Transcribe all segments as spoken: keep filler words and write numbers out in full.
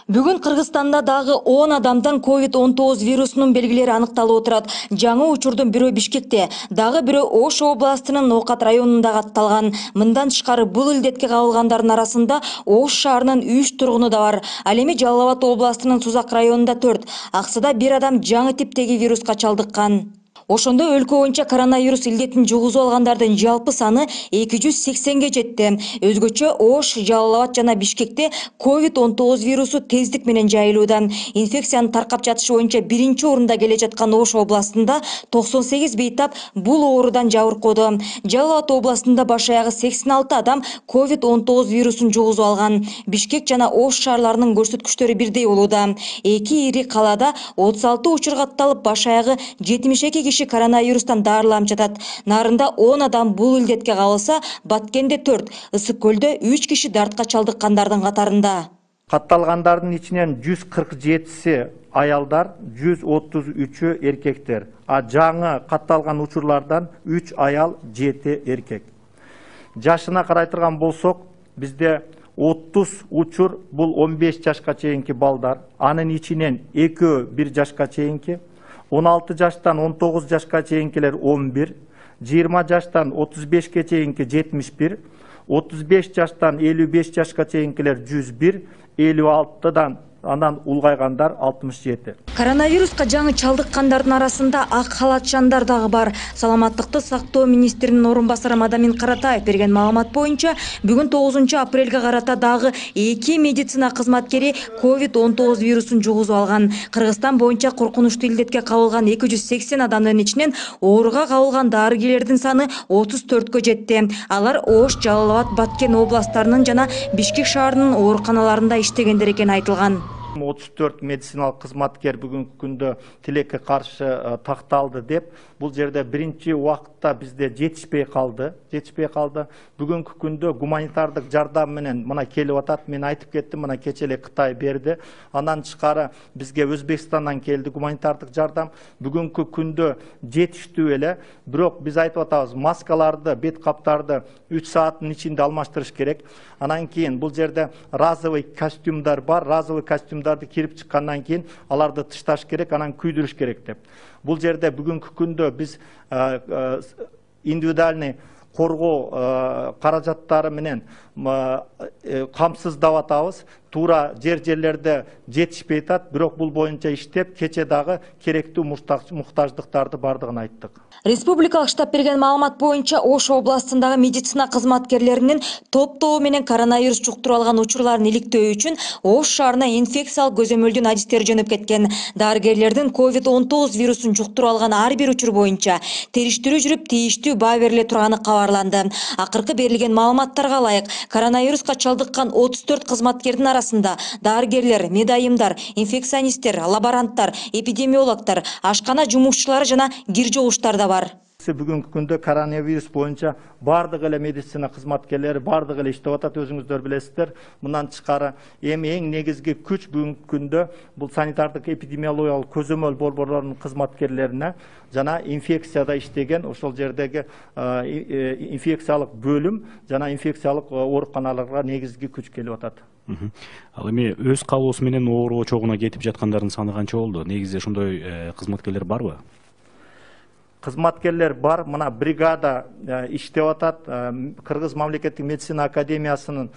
Бүгүн Кыргызстанда дагы он адамдан ковид он тогуз вирусунун белгилери аныкталып отурат. Жаңы учурдун бирөө Бишкекте, дагы бирөө Ош областынын Ноокат районунда катталган. Мындан тышкары бул илдетке кабылгандардын арасында Ош шаарынын үч тургуну да бар. Ал эми Жалал Абад областынын Сузак районунда төрт, Аксыда бир адам жаңы типтеги вируска чалдыккан. Ошондо өлкө боюнча коронавирус илдетин жугузуп алгандардын жалпы саны эки жүз сексенге жетти. Өзгөчө Ош, Жалал Абад жана Бишкекте ковид он тогуз вирусу тездик менен жайылууда. Инфекциянын таркап жатышы боюнча биринчи орунда келе жаткан Ош областында токсон сегиз бейтап бул оорудан жабыркоодо. Жалал Абад областында баш аягы сексен алты адам ковид он тогуз вирусун жугузуп алган. Бишкек жана Ош шаарларынын көрсөткүчтөрү бирдей болууда. Эки ири калаада отуз алты учур катталып, баш аягы жетимиш эки киши коронавирустан дарыланып жатат. Нарында он адам бул илдетке кабылса, Баткенде төрт, Ысык көлдө үч киши дартка чалдыккандардын катарында. Катталгандардын ичинен жүз кырк жетиси аялдар, жүз отуз үчү эркектер. А жаңы катталган учурлардан үч аял, жети эркек. Жашына карай турган болсок, бизде отуз учур бул он беш жашка чейинки балдар, анын ичинен экөө бир жашка чейинки, он алты жаштан он тогуз жашка чейинкилер он бир, жыйырма жаштан отуз бешке чейинки жетимиш бир, отуз беш жаштан элүү беш жашка чейинкилер жүз бир, элүү алтыдан андан улгайгандар алтымыш жети. Коронавируска жаңы чалдыккандардын арасында ак халатчандар дагы бар. Саламаттыкты сактоо министринин орун басары Мадамин Каратаев берген маалымат боюнча, бүгүн тогузунчу апрелге карата дагы эки медицина кызматкери ковид он тогуз вирусун жугузуп алган. Кыргызстан боюнча коркунучтуу илдетке кабылган эки жүз сексен адамдын ичинен ооруга кабылган дарыгерлердин саны отуз төрткө жетти. Алар Ош, Жалал Абад, Баткен областарынын жана Бишкек шаарынын ооруканаларында иштегендер экени айтылган. отуз төрт медициналык кызматкер бүгүнкү күндө тилекке каршы такталды деп, бул жерде биринчи убакытта бизде жетишпей калды, жетишпей калды. Бүгүнкү күндө гуманитардык жардам менен мына келип атат. Мен айтып кеттим, мына кече эле Кытай берди. Андан тышкары бизге Өзбекстандан келди гуманитардык жардам. Бүгүнкү күндө жетиштүү эле, бирок биз айтып атабыз, маскаларды, бет каптарды үч сааттын ичинде алмаштырыш керек. Анан кийин бул жерде разовый костюмдар бар, разовый костюмдарды кирип чыккандан кийин аларды тышташ керек, анан күйдүрүш керек деп. Бул жерде бүгүнкү күндө биз индивидуальный коргоо каражаттары менен камсыздап атабыз. Туура жер жерлерде жетишпей атат, бирок бул боюнча иштеп, кече дагы керектүү муктаждыктарды бардыгын айттык. Республикалык штаб берген маалымат боюнча, Ош областындагы медицина кызматкерлеринин топтоо менен коронавирус жуктуруп алган учурларын иликтөө үчүн Ош шаарына инфекциялык көзөмөлдүн адистери жөнөп кеткен. Дарыгерлердин ковид он тогуз вирусун жуктуруп алган ар бир учур боюнча териштирүү жүрүп, тийиштүү баа бериле турганы кабарланды. Акыркы берилген маалыматтарга ылайык, коронавируска чалдыккан отуз төрт кызматкердин арасында дарыгерлер, медайымдар, инфекционисттер, лаборанттар, эпидемиологдор, ашкана жумушчулары жана кир жугуштар да бар. Бүгүнкү күндө коронавирус боюнча бардык эле медицина кызматкерлери бардык эле иштеп атат, өзүңүздөр билесиздер. Мындан тышкары эми эң негизги күч бүгүнкү күндө бул санитардык эпидемиологиялык көзөмөл борборлорунун кызматкерлерине жана инфекцияда иштеген ошол жердеги инфекциялык бөлүм жана инфекциялык ооруканаларга негизги күч келип атат. Ал эми өз каалоосу менен оору очогуна кетип жаткандардын саны канча болду? Негизи ошондой кызматкерлер барбы? Кызматкерлер бар, мына бригада иштеп атат. Кыргыз мамлекеттик медицина академиясынын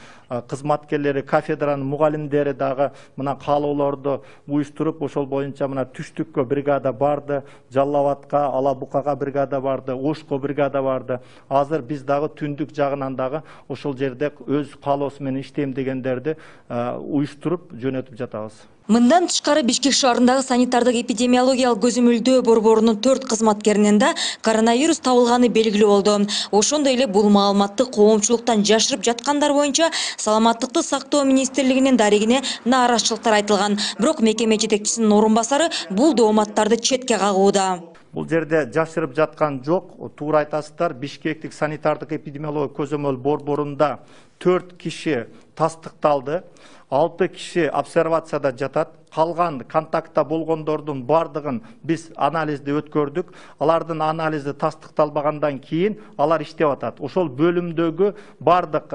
кызматкерлери, кафедранын мугалимдери дагы мына каалоолорду уюштуруп, ошол боюнча мына түштүккө бригада барды, Жалал Абадка, Ала Букага бригада барды, Ошко бригада барды. Азыр биз дагы түндүк жагынан дагы ошол жерде өз каалоосу менен иштейм дегендерди уюштуруп жөнөтүп жатабыз. Мындан тышкары Бишкек шаарындагы санитардык эпидемиологиялык көзөмөлдөө борборунун төрт кызматкеринен да коронавирус табылганы белгилүү болду. Ошондой эле бул маалыматты коомчулуктан жашырып жаткандар боюнча Саламаттыкты сактоо министрлигинин дарегине нааразычылыктар айтылган. Бирок мекеме жетекчисинин орун басары бул дооматтарды четке кагууда. Бул жерде жашырып жаткан жок, туура айтасыздар. Бишкектик санитардык эпидемиологиялык көзөмөл борборунда төрт киши тастыкталды, алты киши обсервацияда жатат. Калган контактта болгондордун бардыгын биз анализди өткөрдүк. Алардын анализи тастыкталбагандан кийин алар иштеп атат. Ошол бөлүмдөгү бардык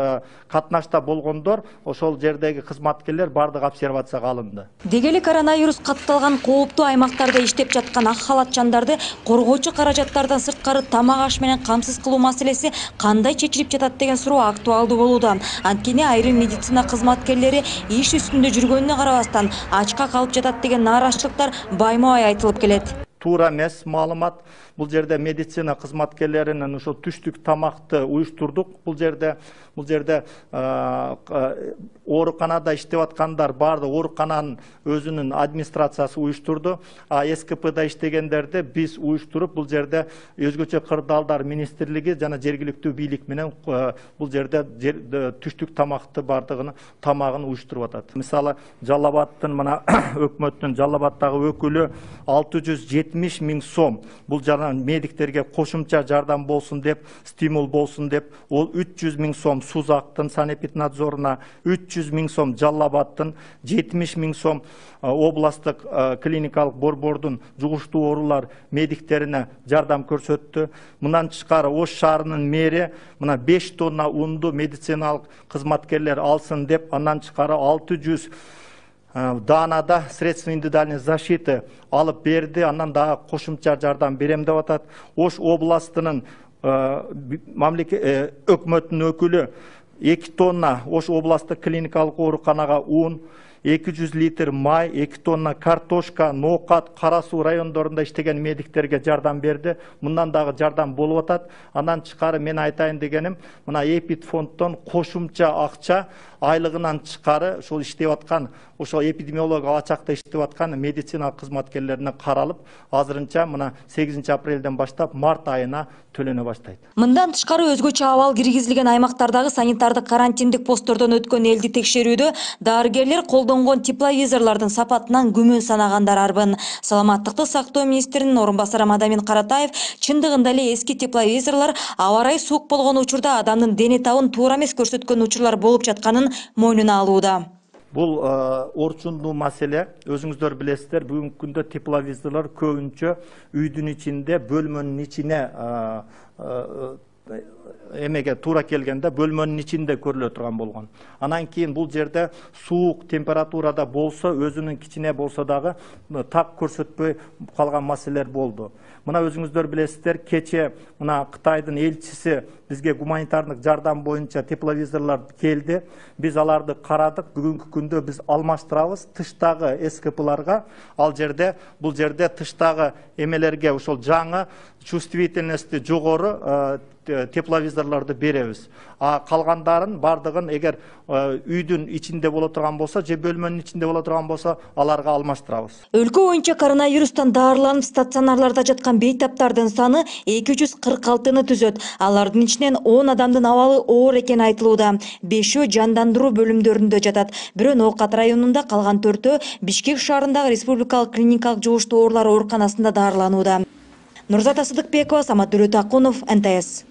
катнашта болгондор, ошол жердеги кызматкерлер бардык обсервацияга алынды. Деги эле коронавирус катталган кооптуу аймактарда иштеп жаткан ак халатчандарды коргоочу каражаттардан сырткары тамак аш менен камсыз кылуу маселеси кандай чечилип жатат деген суроо актуалдуу болууда. Анткени айрым медицина кызматкерлери иш үстүндө жүргөнүнө карабастан ачка калып жатат деген нааразычылыктар байма-бай айтылып келет. Туура эмес маалымат. Бул жерде медицина кызматкерлеринин ошо түштүк тамакты уюштурдук. Бул жерде бул жерде ооруканада иштеп аткандар барды оорукананын өзүнүн администрациясы уюштурду. А эс ка пда иштегендерди биз уюштуруп, бул жерде өзгөчө кырдаалдар министрлиги жана жергиликтүү бийлик менен бул жерде түштүк тамакты бардыгын тамагын уюштуруп атат. Мисалы, Жалал-Абадтын мына өкмөттүн Жалал Абадтагы өкүлү алты жүз жетимиш миң сом бул жана медиктерге кошумча жардам болсун деп, стимул болсун деп, ол үч жүз миң сом Сузактын санэпиднадзоруна, үч жүз миң сом Жалал-Абадтын, жетимиш миң сом областтык клиникалык борбордун жугуштуу оорулар медиктерине жардам көрсөттү. Мындан тышкары Ош шаарынын мэри мына беш тонна унду медициналык кызматкерлер алсын деп, андан тышкары алты жүз даанада средства индивидуальной защиты алып берди. Андан дагы кошумча жардам берем деп атат. Ош областынын мамлекет өкмөттүнүн өкүлү эки тонна Ош областтык клиникалык ооруканага ун, эки жүз литр май, эки тонна картошка, ноокат, Кара Суу райондорунда иштеген медиктерге жардам берди. Мындан дагы жардам болуп атат. Андан тышкары мен айтайын дегеним, мына Эпид фонддон кошумча акча айлыгынан тышкары ошол иштеп аткан, ошол эпидемиологиялык ачакта иштеп аткан медицина кызматкерлерине каралып, азырынча мына сегизинчи апрелден баштап март айына төлөнө баштайт. Мындан тышкары өзгөчө абал киргизилген аймактардагы санитардык карантиндик посттордон өткөн элди текшерүүдө дарыгерлер колдонгон тепловизорлордун сапатынан күмөн санагандар арбын. Саламаттыкты сактоо министринин орун басары Мадамин Каратаев чындыгында эле эски тепловизорлор аба ырайы суук болгон учурда адамдын дене табын туура эмес көрсөткөн учурлар болуп жатканын мойнуна алууда. Бул орчундуу маселе. Өзүңүздөр билесиздер, бүгүнкү күндө тепловизорлор көбүнчө үйдүн ичинде, бөлмөнүн ичине эмеге туура келгенде бөлмөнүн ичинде көрүлө турган болгон. Анан кийин бул жерде суук температурада болсо, өзүнүн кичине болсо дагы так көрсөтпөй калган маселелер болду. Мына өзүңүздөр билесиздер, кече мына Кытайдын элчиси бизге гуманитардык жардам боюнча тепловизорлор келди. Биз аларды карадык. Бүгүнкү күндө биз алмаштырабыз тыштагы эс ка пыларга. Ал жерде бул жерде тыштагы эмелерге ошол жаңы чувствительности жогору тепловизорлорду беребиз. А калгандарын бардыгын эгер үйдүн ичинде боло турган болсо, же бөлмөнүн ичинде боло турган болсо, аларга алмаштырабыз. Өлкө боюнча коронавирустан даарыланып стационарларда жаткан бейтаптардын саны эки жүз кырк алтыны түзөт. Алардын ичинен он адамдын абалы оор экени айтылууда. бешөө жандандыруу бөлүмдөрүндө жатат. Бирөө Ноокат районунда, калган төртөө Бишкек шаарындагы республикалык клиникалык жугуштуу оорулар ооруканасында даарыланууда. Нурзата Сыдыкбекова, Самат Дөрөтакунов, эн тэ эс.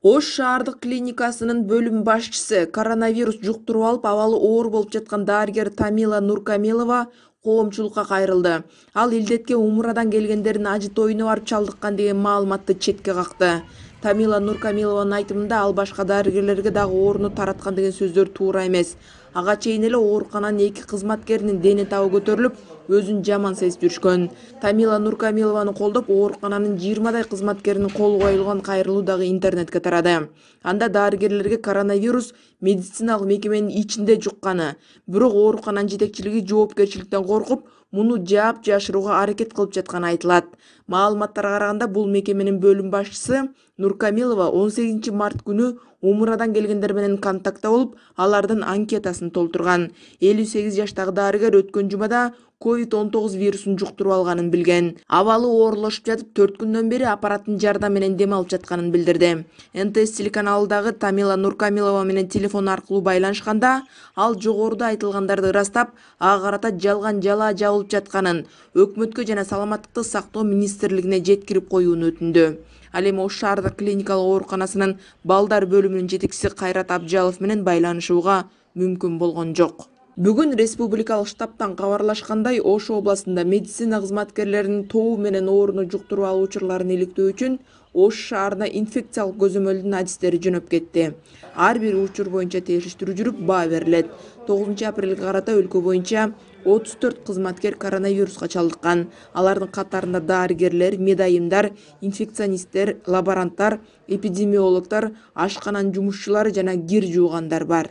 Ош шаардык клиникасынын бөлүм башчысы, коронавирус жуктуруп алып абалы оор болуп жаткан дарыгер Тамила Нуркамилова коомчулукка кайрылды. Ал илдетке умурадан келгендердин ажы тоюна барып чалдыккан деген маалыматты четке какты. Тамила Нуркамилованын айтымында ал башка дарыгерлерге дагы ооруну тараткан деген сөздөр туура эмес. Ага чейин эле оорукананын эки кызматкеринин дене табы көтөрүлүп, өзүн жаман сезип жүрүшкөн. Тамила Нуркамилованы колдоп, оорукананын жыйырмадай кызматкеринин колу коюлган кайрылуу дагы интернетке тарады. Анда дарыгерлерге коронавирус медициналык мекеменин ичинде жукканы, бирок оорукананын жетекчилиги жоопкерчиликтен коркуп, муну жаап жашырууга аракет кылып жатканы айтылат. Маалыматтарга караганда, бул мекеменин бөлүм башчысы Нуркамилова он сегизинчи март күнү умурадан келгендер менен контактта болуп, алардын анкетасын толтурган. элүү сегиз жаштагы дарыгер өткөн жумада ковид он тогуз вирусун жуктуруп алганын билген. Абалы оорлошуп жатып, төрт күндөн бери аппараттын жардамы менен дем алып жатканын билдирди. эн тэ эс телеканалындагы Тамила Нуркамилова менен телефон аркылуу байланышканда, ал жогоруда айтылгандарды ырастап, ага карата жалган жалаа жабылып жатканын, өкмөткө жана саламаттыкты сактоо министрлигине жеткирип коюуну өтүндү. Ал эми Ош шаардык клиникалык ооруканасынын балдар бөлүмүнүн жетекчиси Кайрат Абжалов менен байланышууга мүмкүн болгон жок. Бүгүн республикалык штабтан кабарлашкандай, Ош областында медицина кызматкерлеринин тобу менен ооруну жуктуруп алуу учурларын иликтөө үчүн Ош шаарына инфекциялык көзөмөлдүн адистери жөнөп кетти. Ар бир учур боюнча териштирүү жүрүп, баа берилет. тогузунчу апрелге карата өлкө боюнча отуз төрт кызматкер коронавируска чалдыккан. Алардын катарында дарыгерлер, медайымдар, инфекционисттер, лаборанттар, эпидемиологдор, ашкананын жумушчулары жана кир жуугандар бар.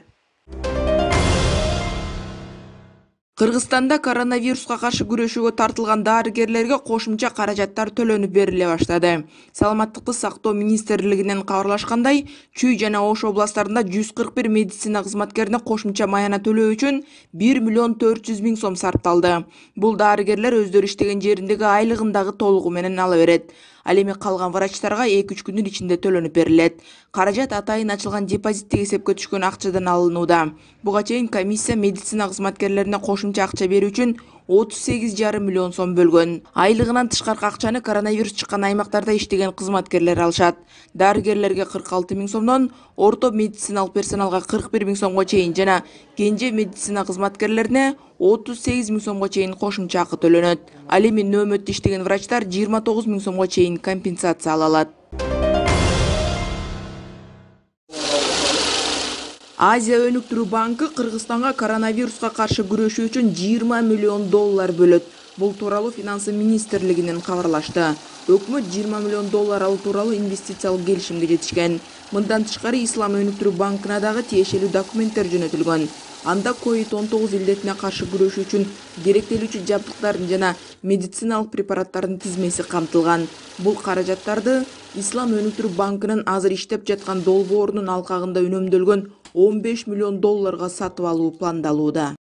Кыргызстанда коронавируска каршы күрөшүүгө тартылган дарыгерлерге кошумча каражаттар төлөнүп бериле баштады. Саламаттыкты сактоо министрлигинен кабарлашкандай, Чүй жана Ош областарында жүз кырк бир медицина кызматкерине кошумча маяна төлөө үчүн бир миллион төрт жүз миң сом сарпталды. Бул дарыгерлер өздөрү иштеген жериндеги айлыгын дагы толугу менен ала берет. Ал эми калган врачтарга эки үч күндүн ичинде төлөнүп берилет. Каражат атайын ачылган депозиттик эсепке түшкөн акчадан алынууда. Буга чейин комиссия медицина кызматкерлерине кошумча акча берүү үчүн отуз сегиз жарым миллион сом бөлгөн. Айлыгынан тышкаркы акчаны коронавирус чыккан аймактарда иштеген кызматкерлер алышат. Дарыгерлерге кырк алты миң сомдон, орто медициналык персоналга кырк бир миң сомго чейин жана кенже медицина кызматкерлерине отуз сегиз миң сомго чейин кошумча акы төлөнөт. Ал эми нөөмөттө иштеген врачтар жыйырма тогуз миң сомго чейин компенсация ала алат. Азия өнүктүрүү банкы Кыргызстанга коронавируска каршы күрөшүү үчүн жыйырма миллион доллар бөлөт. Бул тууралуу финансы министрлигинен кабарлашты. Өкмөт жыйырма миллион доллар алуу тууралуу инвестициялык келишимге жетишкен. Мындан тышкары Ислам өнүктүрүү банкына дагы тиешелүү документтер жөнөтүлгөн. Анда ковид он тогуз илдетине каршы күрөшүү үчүн керектелүүчү жабдыктардын жана медициналык препараттардын тизмеси камтылган. Бул каражаттарды Ислам өнүктүрүү банкынын азыр иштеп жаткан долбоорунун алкагында үнөмдөлгөн он беш миллион долларга сатып алуу пландалууда.